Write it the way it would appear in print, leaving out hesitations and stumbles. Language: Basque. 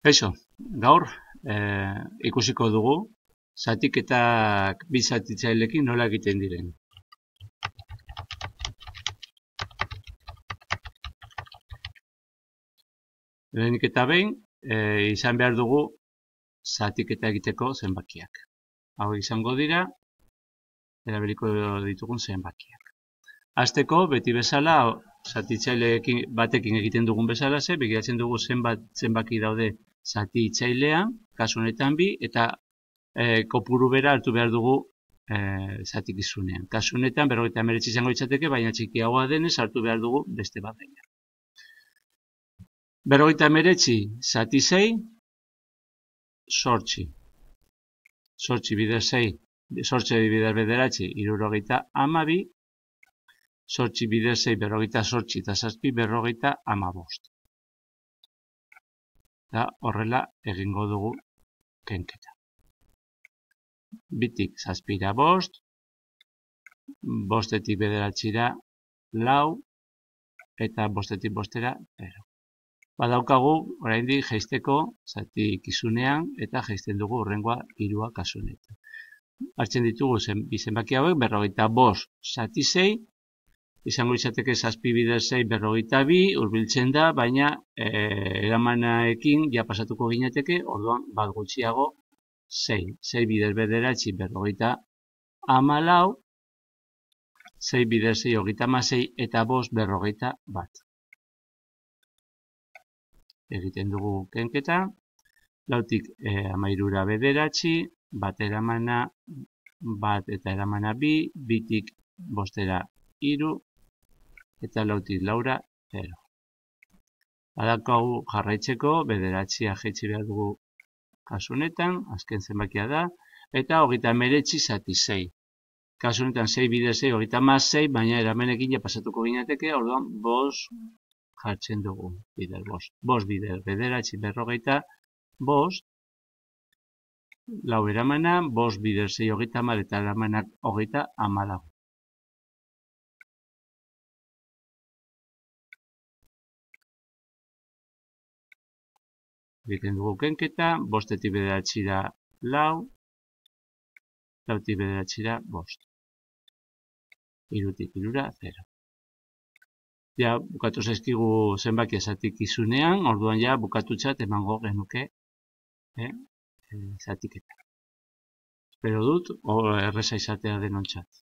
Kaixo, gaur ikusiko dugu zatiketak bi zatitzaileekin nola egiten diren. Lehenik eta behin, izan behar dugu zatiketa egiteko zenbakiak. Hau izango dira, erabiliko ditugun zenbakiak. Hasteko, beti bezala, zatitzaileekin batekin egiten dugun bezala ze, begiratzen dugu zenbaki daude zatitzailean, kasu honetan bi, eta kopuru bera hartu behar dugu zatikizunean. Kasu honetan 59 izango litzateke, baina txikiagoa denez hartu behar dugu beste bat baina. 59 zati 6, 8. 8 bider 6, 8 bider bederatzi, 72. 8 bider 6, 48, eta 7 45. Eta horrela egingo dugu kenketa. Bitik zazpira 5, 5etik bederatzira 4, eta 5etik 5era 0. Badaukagu, oraindik jaisteko zatikizunean, eta jaisten dugu hurrengoa 3 kasu honetan. Hartzen ditugu bi zenbaki hauek, 45 zati 6, izango litzateke 7 bider 6, 42, hurbiltzen da, baina eramanaekin ja pasatuko ginateke, orduan bat gutxiago 6. 6 bider bederatzi, 14, 6 bider 6, 36, eta 5, 41. Egiten dugu kenketa, 4tik 13 bederatzi, 1 eramana, 1 eta eramana 2, 2tik 5era 3, eta 4tik 4, 0. Badaukagu jarraitzeko, bederatzia jaitsi behar dugu kasu honetan, azken zenbakia da, eta 39 zati 6. Kasu honetan 6 bider 6, 36, baina eramenekin ja pasatuko ginateke, orduan 5 jartzen dugu, bider 5. 5 bider bederatzi, 45, 4 eramana, 5 bider 6, 30, eta eramanak 30. Egiten dugu kenketa, 5etik bederatzira 4, 4etik bederatzira 5. 3tik 3, 0. Ja, bukatu zaizkigu zenbakia zatikizunean, orduan ja bukatutzat emango genuke zatiketa. Espero dut, erreza izatea denontzat.